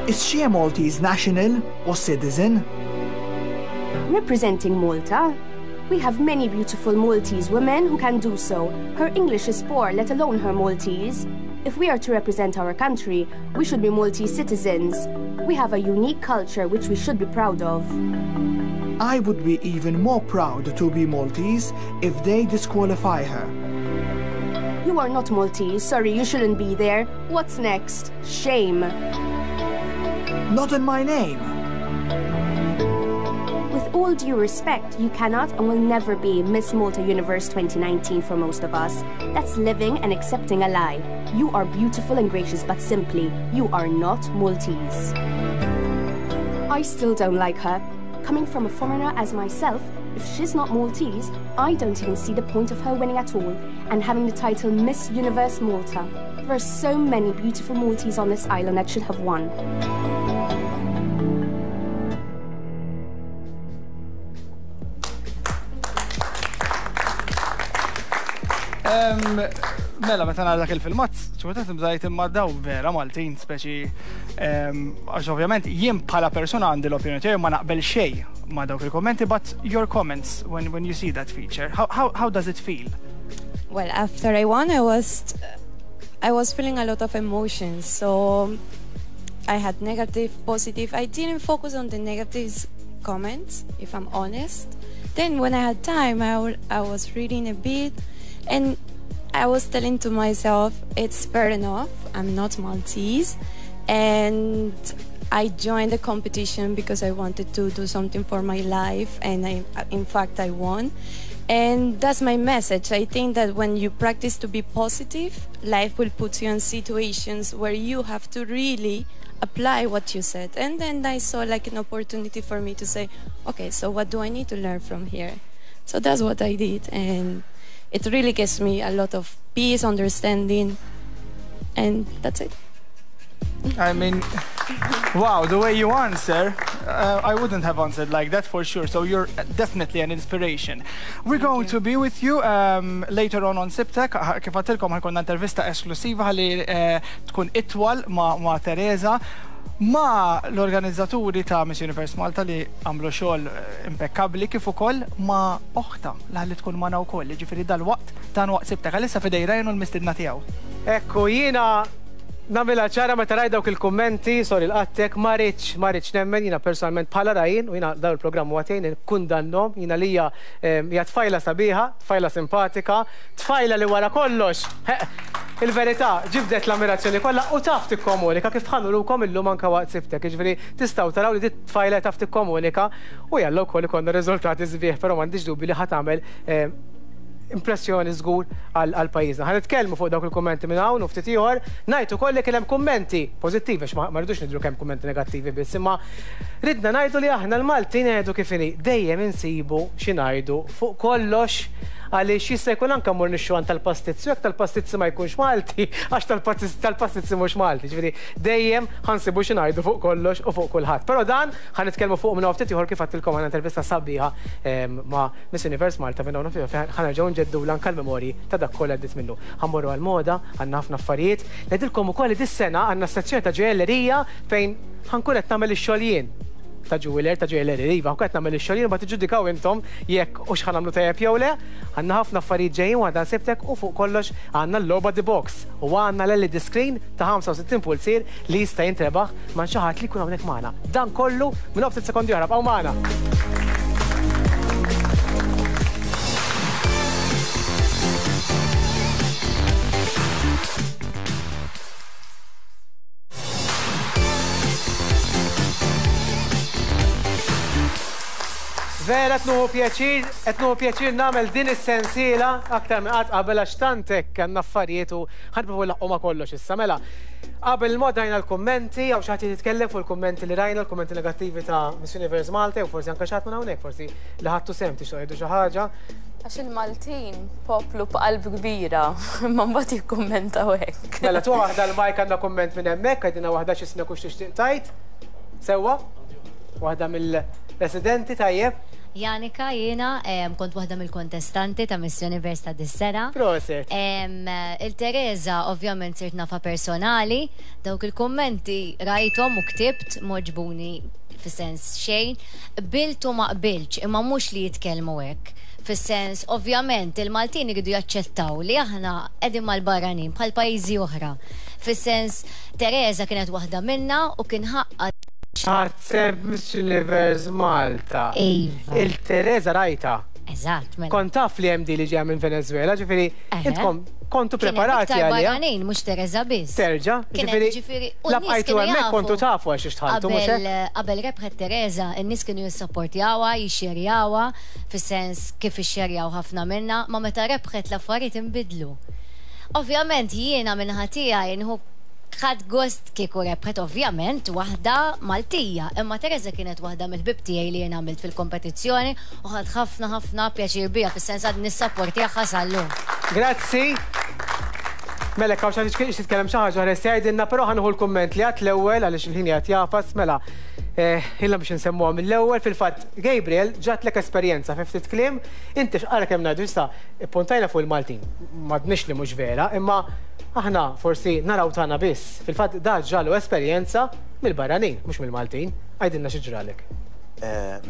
Is she a Maltese national or citizen? Representing Malta, we have many beautiful Maltese women who can do so. Her English is poor, let alone her Maltese. If we are to represent our country, we should be Maltese citizens. We have a unique culture which we should be proud of. I would be even more proud to be Maltese if they disqualify her. You are not Maltese, sorry, you shouldn't be there. What's next? Shame. Not in my name. With all due respect, you cannot and will never be Miss Malta Universe 2019 for most of us. That's living and accepting a lie. You are beautiful and gracious, but simply, you are not Maltese. I still don't like her. Coming from a foreigner as myself, if she's not Maltese, I don't even see the point of her winning at all and having the title Miss Universe Malta. There are so many beautiful Maltese on this island that should have won. Mela, meta nara dak il-filmat, ċurta tibżajt imma daw vera Maltin, speċi għax ovvjament jien bħala persuna għandi l-opinjoni tiegħi ma naqbel xejn ma dawk il-kommenti, but your comments when, when you see that feature, how, how, how does it feel? Well, after I won, I was I was feeling a lot of emotions. So I had negative, positive. I didn't focus on the negative comments, if I'm honest. Then when I had time, I, I was reading a bit and I was telling to myself, it's fair enough. I'm not Maltese. And I joined the competition because I wanted to do something for my life. And I, in fact, I won. And that's my message. I think that when you practice to be positive, life will put you in situations where you have to really apply what you said. And then I saw like an opportunity for me to say, okay, so what do I need to learn from here? So that's what I did. And it really gives me a lot of peace, understanding, and that's it. I mean, wow, the way you answer, I wouldn't have answered like that for sure. So you're definitely an inspiration. We're going to be with you later on on Sibtek. Kif għedtilkom ħa jkollna intervista esklusiva li tkun itwal ma', ma Teresa ma l-organizzaturi ta' Miss Universe Malta li għamlu xogħol impeccabli kif ukoll ma' oħtha li tkun magħna wkoll, ġifieri dal-waqt dan waqt Sibtek għalissa f'idejn Ryan u l-mistidna tiegħu. Ekku, jiena nagħmilha ċara meta rajt dawk il-kummenti, sorry l-qattek, ma rridx, ma rridx nemmen, jiena personalment bħala Ryan, u jiena dawn il-programm huwa tiegħi nikkundannhom, jiena lija hija tfajla sabiħa, tfajla simpatika, tfajla li wara kollox, il-verità ġibdet l-ammirazzjoni kollha u taf tikkomunika kif ħa nurukom illum anke waqt Sibtek, jiġifieri tistgħu taraw li dit tfajla taf tikkomunika u jalla wkoll ikollna riżultati sbieħ, però m'għandix dubju li ħa tagħmel impressjoni żgur għal pajjiżna. Ħa nitkellmu fuq dawk il-kummenti minn hawn u ftit ieħor, ngħid ukoll li kien hemm kummenti pożittivi għax ma rridux nidhru kemm kummenti negattivi biss, imma ridna ngħidu li aħna l-Maltin ngħidu kif inhi, dejjem insibu xi ngħidu fuq kollox għaliex jista' jkun anke mmur nixtru għand tal-pastizzi, jekk tal-pastizzi ma jkunx Malti, għax tal-pastizzi mhux Malti, ġifieri dejjem ħa nsibu xi ngħidu fuq kollox u fuq kulħadd. Però dan ħa nitkellmu fuq minn ftit ieħor kif għedtilkom għandna intervista sabiħa ma' Miss Universe Malta minn hawn ftit ħa nerġgħu nġeddu anke l-memorji ta' dak kollha għaddiet minnu. Ħa mmorru għal-moda, għandna ħafna affarijiet. Ngħidilkom ukoll li dis-sena għandna sezzjoni ta' ġojellerija fejn ħa nkun qed nagħmel ix-xogħol jien ta' jeweler, ta' ġojellerija, iva, qed nagħmel ix-xogħol jien, ma tiġġudikaw intom jekk hux ħa nagħmlu tajjeb jew le. Għandna ħafna affarijiet ġejjin u għandna Sibtek u fuq kollox għandna l-logħba The Box u għandna l-LED screen ta' 65 pulzier li jista' jintrebaħ ma' xi ħadd li jkun hawnhekk magħna. Dan kollu minn ftit sekondi oħra, bqgħu magħna. Vera qed nieħu pjaċir, qed nieħu pjaċir nagħmel din is-sensiela aktar minn qatt qabel għax tant hekk għandna affarijiet u ħa nipprovaw nlaħħqu ma' kollox issa. Mela, qabel il-mod rajna l-kummenti, hawn xi ħadd jrid jitkellem fuq il-kummenti li rajna, l-kummenti negattivi ta' Miss Universe Malta jew forsi anke xi ħadd minn hawnhekk, forsi li ħadtu sehem tixtiequ tgħidu xi ħaġa. Għax il-Maltin poplu b'qalb kbira, imma mbagħad jikkummentaw hekk. Mela, tuha waħda l-mic għandna kumment minn hemmhekk, għidilna waħda x'ismek u x'tixtieq tgħid. Sewwa? Waħda mill-residenti, tajjeb. Janika jiena kont waħda mill-kontestanti ta' Miss Universe ta' dis-sena. Proset. Il-Teresa ovvjament sirt nafha personali, dawk il-kummenti rajthom u ktibt m'għoġbuni fis-sens xejn. Qbilt u ma qbiltx, imma mhux li jitkellmu hekk. Fis-sens, ovvjament il-Maltin iridu jaċċettaw li aħna qegħdin mal-barranin bħal pajjiżi oħra. Fis-sens, Teresa kienet waħda minna u kien ħaqqha. Ħadt sehem f'Miss Universe Malta. Iva. Il-Teresa rajtha. Eżatt, mela. Kont taf li hemm di li ġejja minn Venezuela, ġifieri intkom kontu preparati għaliha. Kien hemm iktar barranin, mhux Teresa biss. Terġa', ġifieri la bqajtu hemmhekk kontu tafu għal xiex dħaltu, mhux hekk? Qabel rebħet Teresa, in-nies kienu jissapportjawha, jixxerjawha, fis-sens kif ixxerjaw ħafna minna, ma meta rebħet l-affarijiet inbidlu. Ovvjament jiena min-naħa tiegħi nieħu ħadt gost kieku rebħet ovvjament waħda Maltija, imma Teresa kienet waħda mill-ħbieb tiegħi li jien għamilt fil-kompetizzjoni u ħadt ħafna ħafna pjaċir biha fis-sens għadni nissapportjaha sal-lum. Grazzi. Mela jekk hawn xi ħadd jixtieq jitkellem xi ħaġa oħra jista' jgħidilna, però ħa nieħu l-kumment li għedt l-ewwel għaliex il-ħin qiegħed jagħfas. Mela, ilna biex insemmuha mill-ewwel, fil-fatt Gabriel ġatlek esperjenza fi ftit kliem, inti x'qara kemm ngħidu issa Ippuntajna fuq il-Maltin. M'għadniex li mhux vera, imma aħna forsi naraw tagħna biss. Fil-fatt da ġralu esperjenza mill-barranin, mhux mill-Maltin. Għidilna xi ġralek.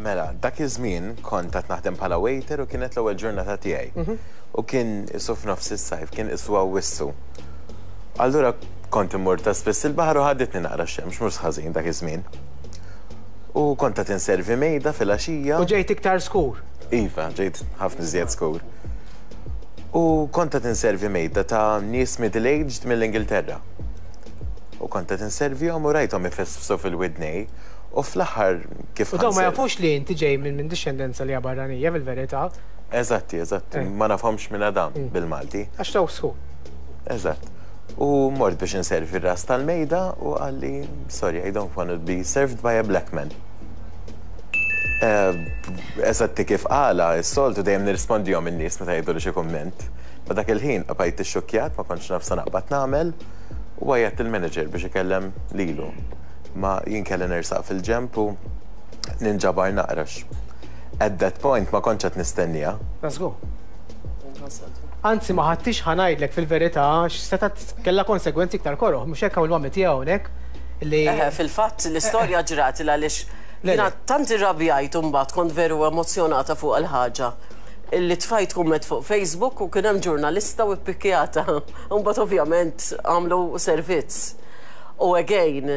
Mela, dak iż-żmien kont għad naħdem bħala waiter u kienet l-ewwel ġurnata tiegħi. U kien qisu f'nofs is-sajf, kien qisu Awwissu. Allura kont immur ta' spiss il-baħar u ħaditni naqra x-xemx, mhux ħażin dak iż-żmien. U kont qed inservi mejda filgħaxija. U ġejt iktar skur. Iva, ġejt ħafna iżjed skur. U kont qed inservi mejda ta' nies middle-aged mill-Ingilterra. U kont qed inservihom u rajthom ifesfsu fil-widnej u fl-aħħar kif U dawn ma jafux li inti ġej minn dixxendenza li hija barranija fil-verità. Eżatti, eżatt. Ma nafhomx minn Adam bil-Malti. Għax taw skur. Eżatt. U mort biex inservi r-ras tal-mejda u qalli, sorry, I don't want to be served by a black man. Eżatti kif qalha, is-soltu dejjem nirrispondihom in-nies meta jgħiduli xi kumment. Ma dak il-ħin bqajt ixxukkjat, ma kontx naf sa naqbad nagħmel u għajjatt lill-manager biex ikellem lilu. Ma jien kelli nersaq fil-ġenb u ninġabar naqra għax at that point ma kontx qed nistennieha. Ta' żgur. Anzi ma ħadtix ħa ngħidlek fil-verità għax setgħet kellha konsegwenzi iktar koroh, mhux hekk hawn il-mami tiegħu hawnhekk li. Eħe, fil-fatt l-istorja ġrat il għaliex jiena tant irrabjajt u mbagħad kont veru emozzjonata fuq il-ħaġa illi tfajt kumment fuq Facebook u kien hemm ġurnalista u ppikkjata. U mbagħad ovvjament għamlu servizz. U again,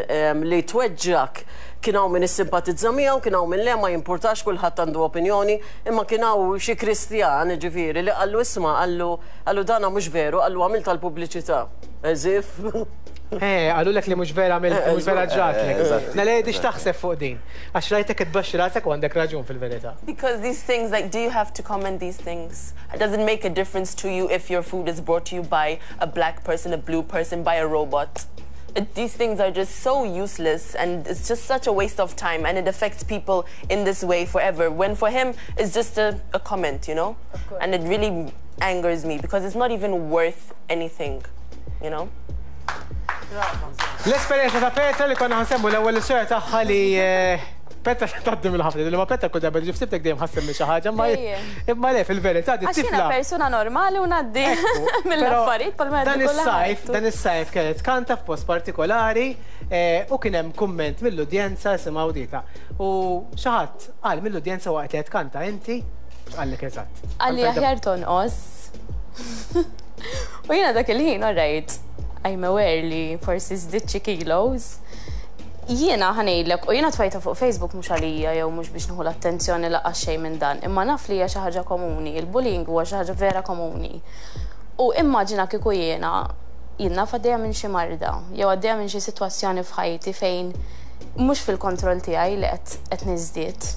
li tweġġgħek kien hawn min issimpatizza miegħu, kien hawn min le, ma jimpurtax kulħadd għandu opinjoni, imma kien hawn xi Kristjan, jiġifieri, li qallu isma' qallu qallu dana mhux veru, qallu għamilt għall-pubbliċità. As if. Eh, qalulek li mhux vera għamilt, mhux vera ġratlek. Naledi x'taħseb fuq din? Għax rajtek tbaxxi rasek u għandek raġun fil-verità. Because these things, like, do you have to comment these things? Does it make a difference to you if your food is brought to you by a black person, a blue person, by a robot? It, these things are just so useless and it's just such a waste of time and it affects people in this way forever. When for him, it's just a, a comment, you know? And it really angers me because it's not even worth anything, you know? L-esperjenza ta' Petra li konna ħansemmu l-ewwel l-istorja tagħha li eh, Petra tgħaddi mill-ħafna, li ma Petra kull darba tiġi f'sibtek dejjem ħassemmi xi ħaġa, imma imma le fil-verità di Għax jiena tifla. persuna normali u ngħaddi mill-affarijiet bħalma Dan jgħaddi is-sajf, kulħadd. dan is-sajf kienet tkanta f'post partikolari eh, u kien hemm kumment mill-udjenza isimgħu dita. U xi ħadd qal mill-udjenza waqt li qed tkanta inti, x'qallek eżatt? Qalli aħjar tonqos. U jiena dak il-ħin, all right, I'm aware li forsi żdidt xi kilos. Jiena ħa ngħidlek, u jiena tfajtha fuq Facebook mhux għalija jew mhux biex nieħu l-attenzjoni lanqas xejn minn dan, imma naf li hija xi ħaġa komuni, il-bullying huwa xi ħaġa vera komuni. U immaġina kieku jiena, jien naf għaddejja minn xi marda jew għaddejja minn xi sitwazzjoni f'ħajti fejn mhux fil-kontroll tiegħi li qed qed niżdied.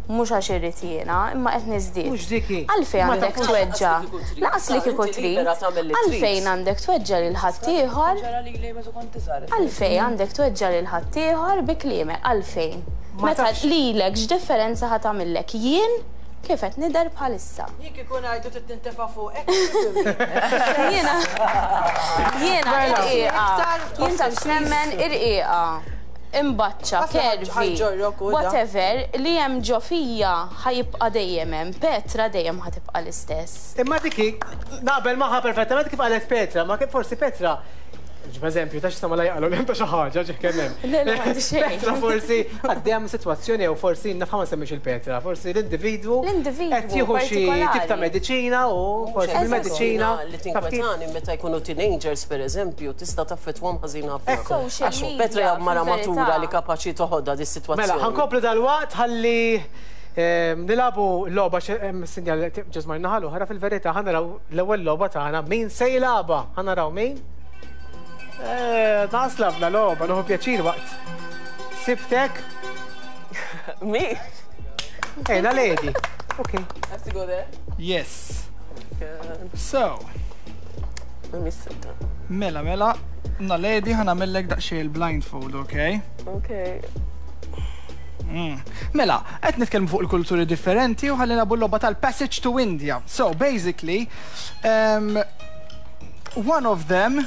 Mhux għax irrid jiena, imma qed niżdied. Mhux dik hi. Għalfejn Ma għandek tafux. tweġġa'? Lanqas li kieku trid. Lanqas li kieku Inti trid. libera tagħmel li trid. Għalfejn għandek tweġġa' lil ħaddieħor? Ġara lili meta kont iżgħar. Għalfejn għandek tweġġa' lil ħaddieħor bi kliemek? Għalfejn? Ma Meta tafx. lilek x'differenza ħa tagħmillek? Jien kif qed nidher bħalissa. Jien kieku ngħidu trid nintefa' fuqek. Jiena jiena Mela. irqiqa. Iktar Jien taf x'nemmen irqiqa. Imbaċċa, curvy, whatever, li hemm ġo fija ħa jibqa' dejjem hemm. Petra dejjem ħa tibqa' l-istess. Imma dik hi, naqbel magħha perfettament kif qalet Petra, ma forsi Petra, ġib eżempju, ta' x'issa ma la jaqalgħu hemm ta' xi ħaġa ġih kemm hemm. Le, le, m'għandi xejn. Petra forsi għaddejja minn sitwazzjoni jew forsi naf ħa ma nsemmix il-Petra, forsi l-individwu L-individwu qed jieħu xi tip ta' partikolari. mediċina u forsi bil-mediċina Li taf kif. tinkwetani meta jkunu teenagers pereżempju tista' taffettwahom ħażin ħafna. Ekku. Social Għax media, Petra hija mara fil-verità. matura li kapaċi toħodha di sitwazzjoni. Mela, ħankomplu dalwaqt ħalli nilagħbu logħba hemm sinjal ġeżmar naħa l-oħra fil-verità ħa naraw l-ewwel logħba tagħna min se jilagħbha. Ħa naraw min. Eh, Naqas labna logħba, nieħu pjaċir waqt. Sibtek. Me? Ejna lady. Okay. I have to go there? Yes. So, Let me sit down. mela, mela, Naledi ħa nagħmellek daqsxejn il-blindfold, okay? Okay. Mela, qed nitkellmu fuq il-kulturi differenti u ħalli nilagħbu l-logħba tal-Passage to India. So, basically, one of them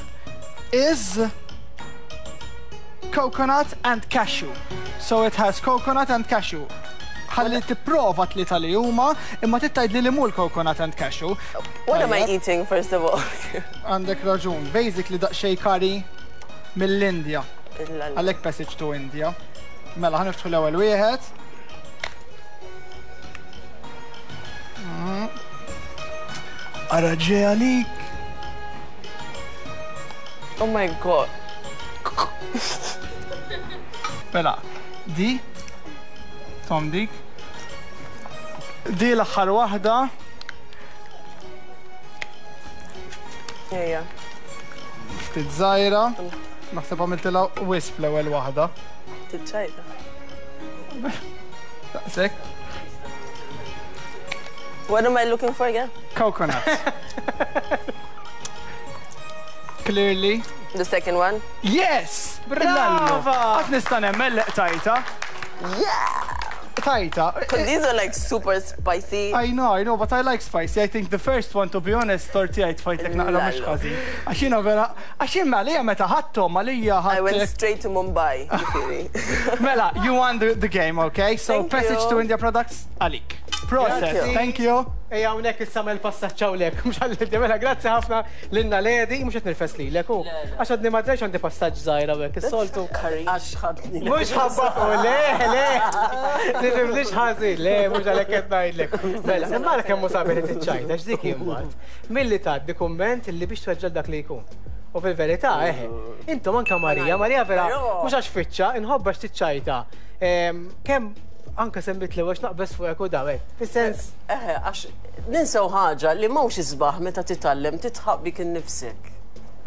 is coconut and cashew. So it has coconut and cashew. Ħalli tipprova tlieta li huma, imma trid tgħidli li mhu l-coconut and cashew. What am I Tajjeb. eating, first of all? Għandek raġun. Basically daqsxejn curry mill-Indja. Il-lallu. Għalhekk Passage to India. Mela, ħa niftħu l-ewwel wieħed. Ara ġej għalik. Oh my god. Mela, di. Tom dik. Di l-aħħar waħda. Ejja. Ftit żgħira. Naħseb għamiltilha wisq fl-ewwel waħda. Ftit ċajta. Daqshekk. What am I looking for again? Coconut. Clearly. The second one? Yes! Brava! Qatt nista' nemmen li qtajta. Yeah! Tajta. Because these are like super spicy. I know, I know, but I like spicy. I think the first one, to be honest, tortija tfajtek naqra mhux ħażin. Għax jiena vera, għax jien għalija meta ħadthom għalija I went ħadd. straight to Mumbai, ġifieri. Mela, you won the game, okay? So Thank Passage you. to India products għalik. Process, Thank you. thank you. Ejja hawnhekk issa għamel passaġġ hawnhekk, mhux għall Mela grazzi ħafna lilna Ledi, mhux qed nirfes lilek hu. Għax għadni ma drajx għandi passaġġ żgħir hawnhekk, is-soltu. Għax ħadni. Mhux ħabba u le, le. Tifhimniex ħażin, le, mhux għalhekk qed ngħidlek. Mela, imma ara kemm hu sabiħ li tiċċajta, x'dik imbagħad. Milli tgħaddi kumment illi biex tweġġel dak li jkun. U fil-verità, eħe, intom anka Marija, Marija vera, mhux għax fiċċa, inħobbha x'tiċċajta. Kemm anka semmit li għax naqbes fuqek u daw, fis-sens. Eħe, għax ninsew ħaġa li mhux isbaħ meta titgħallem titħaq bik innifsek.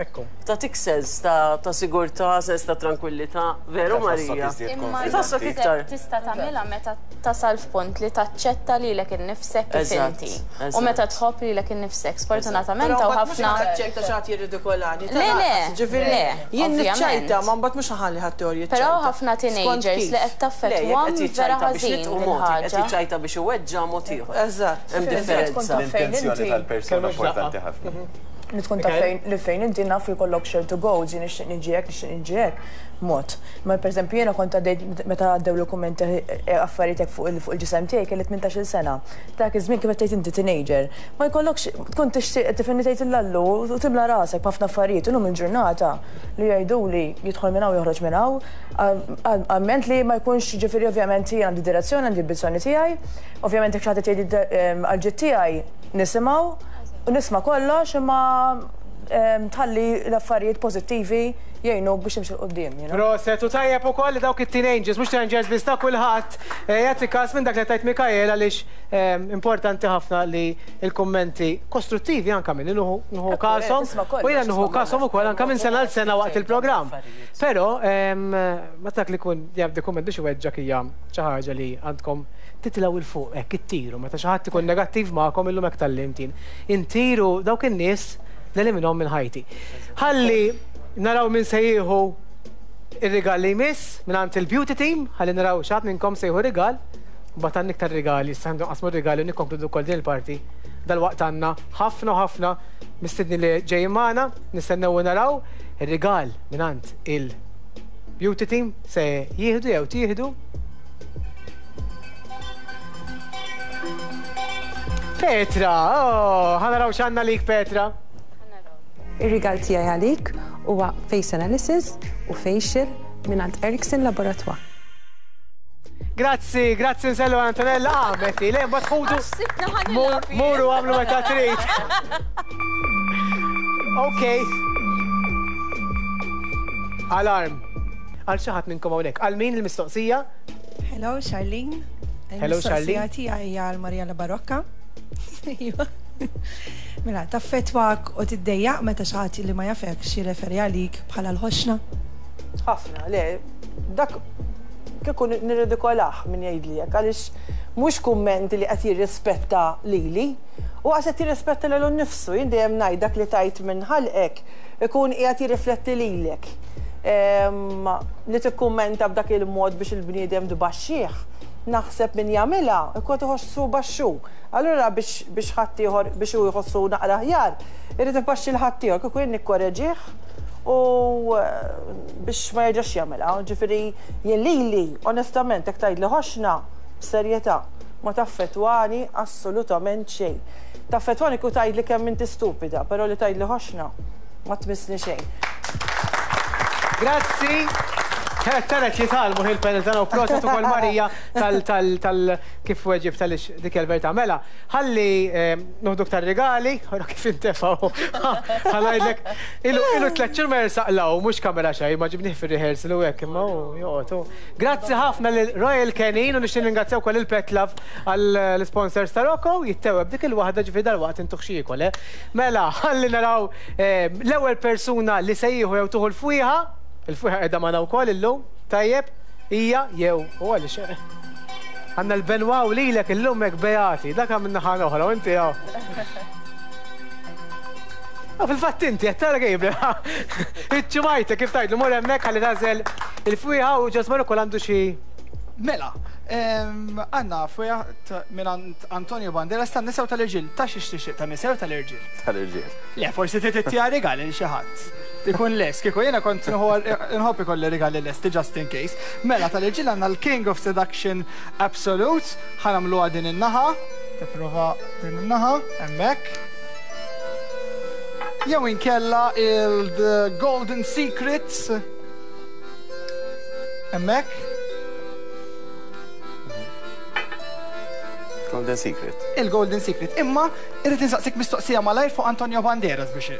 Ekku. Tagħtik sens ta' sigurtà, sens ta' tranquillità, veru Marija? Imma Tħossok iktar. tista' tagħmilha meta tasal f'punt li taċċetta lilek innifsek kif Eżatt, inti. U eżatt. meta tħobb lilek innifsek. Sfortunatament Però hawn mbagħad mhux ħafna. naċċerta xi ħadd jirridikolani. Le, le, Ġifieri le, jien ovvjament. niċċajta ma mbagħad mhux ħalli ħadd teorji Però ħafna teenagers li qed Le, jekk taffettwahom qed vera jiċċajta biex ħażin nitqu din mod, jekk qed ħaġa. jiċċajta biex iweġġa' mod ieħor. Eżatt. Hemm differenza. L-intenzjoni tal-persuna Kemm x'daqqa. importanti ħafna. Li tkun taf fejn li fejn inti naf li jkollok ċertu goals, jien nixtieq niġi hekk, nixtieq niġi hekk, mod. Ma pereżempju jiena kont għaddejt meta għaddew l-kummenti affarijiet hekk fuq il- fuq il-ġisem tiegħi kelli 18-il sena. Dak iż-żmien kif qed tgħid inti teenager. Ma jkollokx tkun tixtieq tifhimni tgħid il-lallu u timla rasek b'ħafna affarijiet illum il-ġurnata li jgħiduli jidħol minn hawn joħroġ minn hawn. Amment li ma jkunx ġifieri ovvjament jien għandi direzzjoni, għandi ambizzjoni tiegħi. Ovvjament jekk xi ħadd jgħid għall-ġid tiegħi nisimgħu u nisma' kollox imma tħalli l-affarijiet pożittivi jgħinuk biex timxi 'l quddiem, you know. Proset, u tajjeb ukoll li dawk it-teenagers, mhux teenagers biss ta' kulħadd, jagħti kas minn dak li qed tgħid Mikael għaliex importanti ħafna li l-kummenti kostruttivi anke minni nieħu kashom u jiena nieħu kashom ukoll anke minn sena għal sena waqt il-programm. Però meta dak li jkun jgħaddi kumment biex iweġġgħek hija xi ħaġa li għandkom titilgħu 'l fuq hekk ittiru meta xi ħadd ikun negattiv magħkom illum hekk tgħallimt jien. Intir u dawk in-nies neliminhom minn ħajti. Ħalli naraw min se jieħu ir-rigal li jmiss mingħand il-beauty team, ħalli naraw xi ħadd minnkom se jieħu rigal. Mbagħad għandna iktar rigali, issa ħa nqassmu r-rigali u nikkonkludu wkoll din il-parti. Dalwaqt għandna ħafna u ħafna mistednin li ġejjin magħna, nistennew u naraw ir-rigal mingħand il-beauty team se jieħdu jew tieħdu. Petra, oh, ħa naraw x'għandna lik Petra. Ir-rigal tiegħi għalik huwa face analysis u facial mingħand Erickson Laboratoire. Grazzi, grazzi nsellu Antonella. Ah, Betty, le, mbagħad ħudu. Muru għamlu meta trid. Ok. Alarm. Għal xi ħadd minnkom hawnhekk. Għal min il-mistoqsija? Hello, Charlene. Hello, Charlene. Il-mistoqsija tiegħi hija għal Mariella Barocca. Iva. Mela, taffettwak u tiddejjaq meta xi ħadd li ma jafekx jirreferi għalik bħala l-ħoxna? Ħafna, le, dak kieku nirridikolah min jgħidli hekk għaliex mhux kumment li qed jirrispetta lili u qas qed jirrispetta lilu nnifsu. Jien dejjem ngħid dak li tgħid minn ħalqek ikun qiegħed jirrifletti lilek. Li tikkummenta b'dak il-mod biex il-bniedem tbaxxih, naħseb min jagħmilha jkun qed iħossu baxxu. Allura biex biex ħaddieħor biex hu jħossu naqra aħjar, irid ibaxxi 'l ħaddieħor. Kieku jien nikkoreġih u biex ma jerġax jagħmilha. Ġifieri jien lili, onestament, jekk tgħidli ħoxna, b'serjetà, ma taffettwani assolutament xejn. Taffettwani kieku tgħidli kemm inti stupida, però li tgħidli ħoxna ma tmissni xejn. Grazzi. Tara qed jitgħallmu il-panel tagħna u proset ukoll Marija tal tal kif weġibt għaliex dik hija l-verità. Mela, ħalli noħdu iktar rigali, ora kif intefgħu. Ħa ngħidlek, ilu ilu tlett xhur ma jersaq 'l hawn, mhux kamera xejn, ma ġibnih fir-rehearsal u hekk, imma hu joqgħod hu. Grazzi ħafna lil Royal Canin u nixtieq nirringrazzja wkoll lil Petlove għall-isponsors ta' Rocco, jittewweb dik il-waħda ġifieri dalwaqt intuh xi jiekol, eh. Mela, ħalli naraw l-ewwel persuna li se jieħu jew tieħu l-fwieħa, il-fwieħa qiegħda magħna wkoll illum, tajjeb, hija jew hu għaliex għandna l-Benoit u lilek illum hekk beati, dak min naħa l-oħra u inti hawn. Ah, fil-fatt inti qed tara Gabriel. Iċ-ċumajta kif tgħidlu mur hemmhekk ħalli tagħżel il-fwieħa u Ġosmar ukoll għandu xi Mela, għandna fwieħa mingħand Antonio Banderas tan-nisa u tal-irġiel. Ta' xiex tixtieq, tan-nisa jew tal-irġiel? Tal-irġiel. Le, forsi trid ittiha rigal lil xi ħadd. Ikun lest, kieku jiena kont nħobb ikolli rigali lesti just in case. Mela, tal-irġiel għandna l-King of Seduction Absolute, ħa nagħmluha din in-naħa, tipprova din in-naħa, hemmhekk. Jew inkella il-The Golden Secrets. Hemmhekk. Golden Secret. Il-Golden Secret. Imma irrid insaqsik mistoqsija malajr fuq Antonio Banderas biex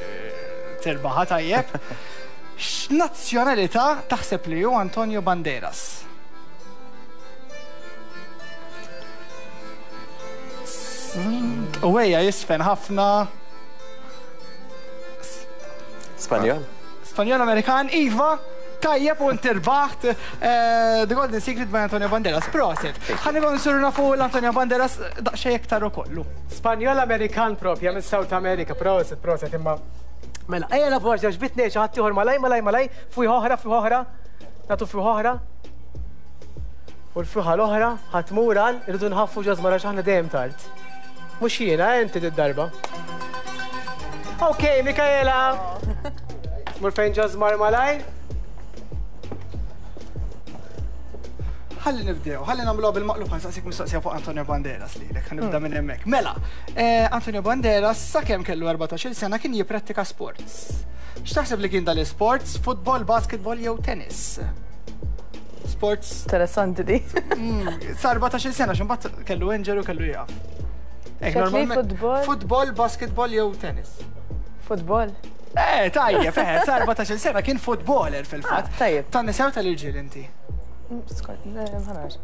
tirbaħha tajjeb. X'nazzjonalità taħseb li hu Antonio Banderas? U ejja jisfen ħafna. Spanjol? Spanjol Amerikan, Iva, tajjeb u inti rbaħt eh, The Golden Secret by Antonio Banderas. Proset. Ħanibgħu nsiru nafu l-Antonio Banderas daqsxejn iktar ukollu. Spanjol Amerikan propja minn South America, proset, proset imma. Mela, ejja nafu għax ġbitni xi ħadd ieħor malaj, malaj, malaj, fuq oħra, fuq oħra, nagħtu fuq oħra. U l-fuħa l-oħra ħa tmur għal irridu nħaffu ġożmar għax aħna dejjem tard. Mhux jiena, eh, inti did-darba. Ok, Mikaela. Mur fejn ġożmar malajr. Ħalli nibdew, ħalli nagħmluha bil-maqlub ħa nsaqsik mistoqsija fuq Antonio Banderas lilek, ħa nibda minn hemmhekk. Mela, eh, Antonio Banderas sakemm kellu 14-il sena kien jipprattika sports. X'taħseb li kien dal-isports? Futbol, basketball jew tennis? Sports. Interessanti di. Mm, sa 14 sena x'imbagħad kellu injury u kellu jaf. Futbol? Futbol, basketball jew tennis. Futbol. Eh, tajjeb, eh, sa 14 sena kien footballer fil-fatt. Ah, tajjeb. Tan-nisa u tal-irġiel inti? Skont, ma nafx.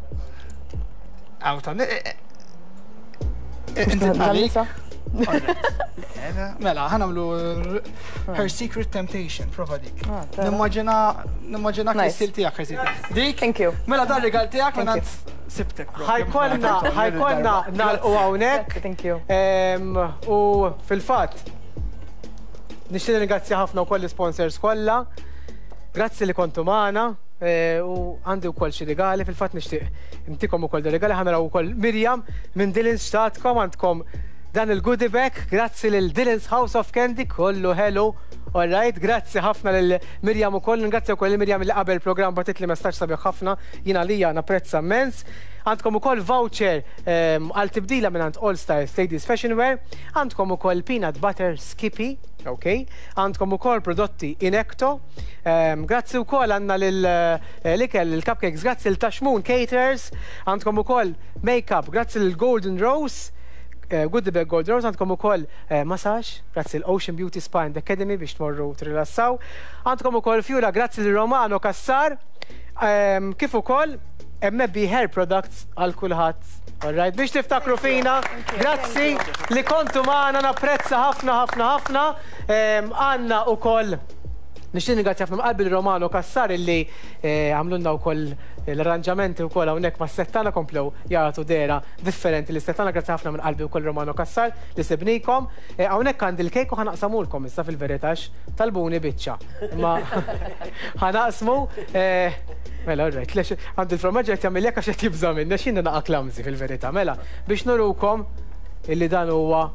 Għaw tan eh, eh, Inti tan-nisa? Mela, ħanamlu Her Secret Temptation, prova dik. Ah, nimmaġina, nimmaġina l-istil tijak, Her Secret. Dik? Thank you. Mela dan rigal tijak, mela sibtek. Ħajkonna, ħajkonna nalqu hawnhekk. Thank you. U fil-fatt, nixtieq nirringrazzja ħafna wkoll l-sponsors kollha. Grazzi li kontu magħna. Eh, u għandi wkoll xi rigali, fil-fatt nixtieq intikom ukoll rigali ħa naraw ukoll Mirjam minn Dylan's xtatkom għandkom dan il-goodie bag, grazzi lil Dylan's House of Candy, kollu ħelu. All right, grazzi ħafna lil Mirjam ukoll, ningrazzja wkoll lil Mirjam li qabel programm bagħtitli messaġġ sabiħ ħafna, jiena lija napprezza immens. Għandkom ukoll voucher għal tibdila mingħand All Styles Ladies Fashion Wear, għandkom ukoll peanut butter Skippy, ok, għandkom ukoll prodotti Inecto, grazzi wkoll għandna lil l-ikel, il-cupcakes, grazzi lil Taxmun Caterers, għandkom ukoll makeup, grazzi lil Golden Rose, Goodie Bag Golden Rose, għandkom ukoll massage, grazzi lil Ocean Beauty Spa and Academy biex tmorru tirrilassaw, għandkom ukoll fjura, grazzi lil Romano Cassar, kif ukoll MB Hair Products għal kulħadd. All right, biex tiftakru fina, grazzi li kontu magħna, napprezza ħafna ħafna ħafna. Għandna ukoll nixtieq ningrazzja ħafna qalbi lil Romano Cassar illi eh, għamlulna wkoll l-arranġamenti wkoll hawnhekk mas-set tagħna komplew jagħtu dehra differenti lis-set tagħna. Grazzi ħafna minn qalbi wkoll Romano Cassar li sibnikom. Eh, hawnhekk għandi l-kejk u ħanaqsamulkom issa fil-verità talbuni biċċa. Imma ħanaqsmu eh, mela all right, lex għandi l-formaġġ qed jagħmel hekk għax qed jibża' minni għax jiena naqa' clumsy fil-verità. Mela, biex nurukom illi dan huwa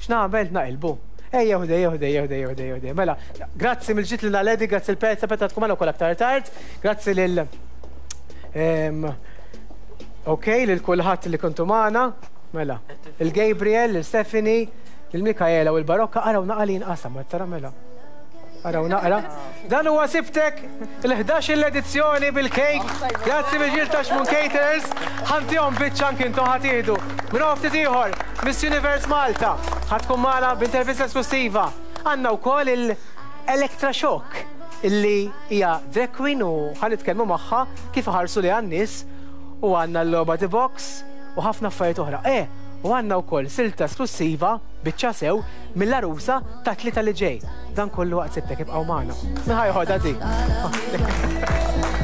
x'nagħmel naqilbu. Ejja ħdej, ejja ħdej, ejja ħdej, ejja ħdej, ejja Mela, grazzi mill-ġid lil Naledi, grazzi l Petra, Petra tkun magħna wkoll aktar tard. Grazzi lil Ok, lil kulħadd li kontu magħna. Mela, il-Gabriel, lil Stephanie, lil Mikaela u l-Barokka araw naqa li jinqasam, tara mela. Araw naqra. Dan huwa sibtek il-11 l-edizzjoni bil-kejk. Grazzi mill-ġil ta' Xmun Caterers. Ħantihom biċċa anki intom ħa tieħdu. Minn hawn ftit ieħor, Miss Universe Malta ħa tkun magħna b'intervista esklussiva. Għandna wkoll il-Electra Shock illi hija drag queen u ħa nitkellmu magħha kif iħarsu lejha n-nies u għandna l-logħba The Box u ħafna affarijiet oħra. Eh, u għandna wkoll silta esklussiva biċċa sew mill-għarusa tat-Tlieta li ġej. Dan kollu waqt sibtek ibqgħu magħna. Min ħa joħodha di?